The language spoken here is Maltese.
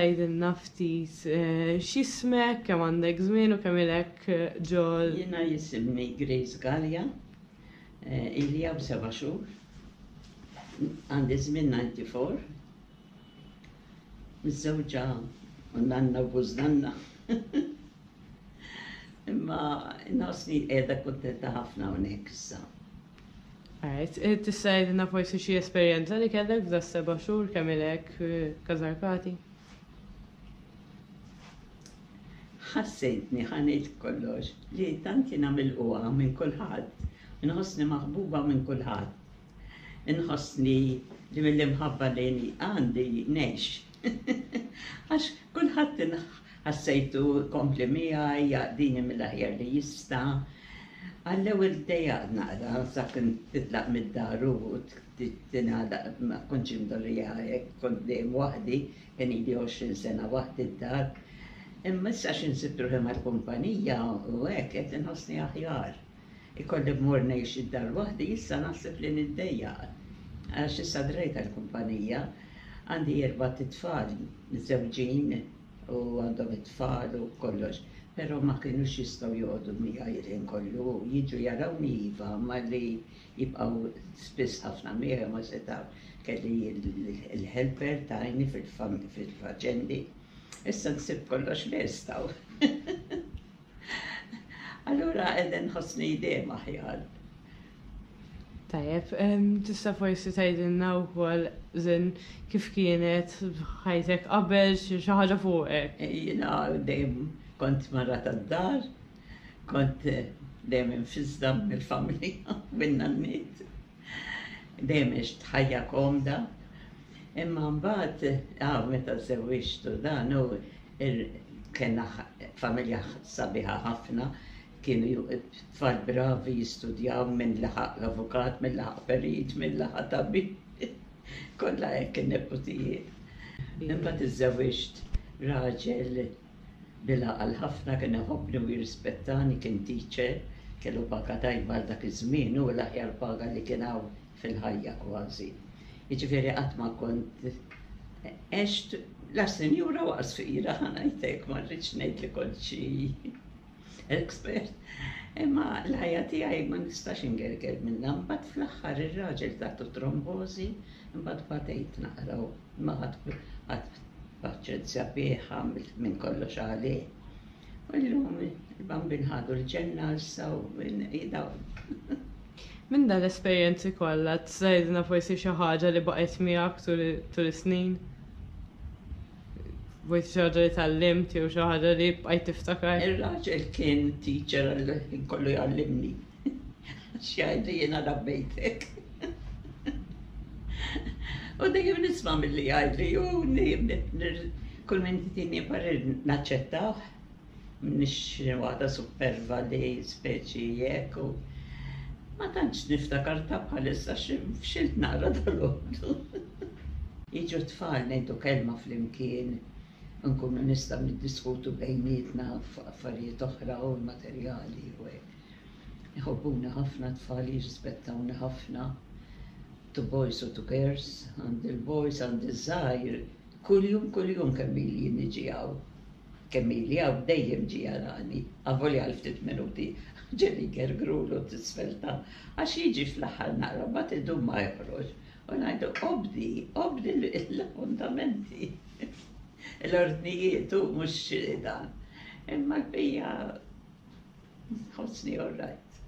tgħidilna ftit x'ismek, kemm għandek żmien u kemm ilek ġol. Jiena jisimni Grace Galea, ili hawn seba' xhur, għandi żmien 94, miżżewġa u nanna u bużnanna. Imma nħossni qiegħda kuntenta ħafna hawnhekk issa. Alright, eh, tista' jgħidilna forsi xi esperjenza li kellek f'da seba' xhur kemm ilek eh, Kazarkati? Ħassejtni ħa ngħid kollox li tant jiena milqugħa minn kulħadd, inħossni maħbuba minn kulħadd. Inħossni li mill-imħabba li għandi ngħix. Għax kulħadd ħassejtu jkompli miegħi, jaqdini mill-aħjar li jista'. Għall-ewwel ddejjaqt naqra sakemm titlaq mid-dar u tingħalaq ma kontx imdorrija hekk, kont dejjem waħdi, kien ili 20 sena waħdi d-dar. Imma issa għax insib ruħi mal-kumpanija u hekk qed inħossni aħjar. Ikolli mmur ngħix id-dar waħdi issa naħseb li niddejjaq għax issa drajt għall-kumpanija. Għandi erbat itfal miżżewġin u għandhom it-tfal u kollox, però ma kinux jistgħu joqogħdu miegħi l-ħin kollu. Jiġu jarawni iva, imma li jibqgħu spiss ħafna miegħi ma setgħux. Kelli l-helper tgħinni fil-faċendi. Issa nsib kollox lest hawn. Allura qegħda nħossni dejjem aħjar. Tajjeb, tista' forsi tgħidilna wkoll żin kif kienet ħajtek qabel xi ħaġa fuqek. Jiena dejjem kont mara tad-dar, kont dejjem infisda mill-familja min-nanniet. Dejjem għext ħajja komda. Imma mbagħad, ah, meta żżewwiġt u dan u Kellna familja sabiħa ħafna, kienu tfal bravi jistudjaw min laħaq avukat, min laħaq perit, min laħaq tabib. Kollha hekk in-neputijiet. Imbagħad iżżewwiġt raġel bil-għaqal ħafna, kien iħobbni u jirrispettani, kien teacher, kellu paga tajba għal dak iż-żmien, hu l-aħjar paga li kien hawn fil-ħajja kważi. Jiġifieri qatt ma kont għext la sinjura u qas fqira ħa ngħid hekk, ma rridx ngħid li kont xi expert. Imma l-ħajja tiegħi ma nistax ingerger minnha. Mbagħad fl-aħħar ir-raġel tatu trombożi, imbagħad batejt naqra u imma ħadt ħadt paċenzja bih, għamilt minn kollox għalih. U llum il-bambin ħadu l-ġenna issa u jdaw. Minn dan l-esperjenzi kollha tista' tgħidilna forsi xi ħaġa li baqgħet miegħek tul is-snin? Forsi xi ħaġa li tgħallimt jew xi ħaġa li bqajt tiftakar? Ir-raġel kien teacher għall-ħin kollu jgħallimni. Għax jgħidli jiena rabbejtek. U dejjem nisma' milli jgħidli u kull min jtini parir naċċettah. M'iniex xi waħda supperva li speċi hekk u ma tantx niftakar ta' bħalissa xi fxilt naqra dalgħodu. Jiġu t-tfal ngħidu kelma flimkien, nkunu nistgħu niddiskutu bejnietna fuq affarijiet oħra u materjali u hekk. Iħobbuni ħafna t-tfal, jirrispettawni ħafna, two boys u two girls, għandi l-boys, għandi ż-żgħir, kuljum kuljum kemm ili niġi hawn. Kemm ili hawn dejjem ġie jarani, avolja għal ftit minuti, ġieli jgergrulu t'isfel ta' għax jiġi fl-aħħar naqra mbagħad idum ma joħroġ u ngħidu obdi, obdi l-appuntamenti, l-ordnijiet u mhux dan. Imma l-bqija nħossni all right.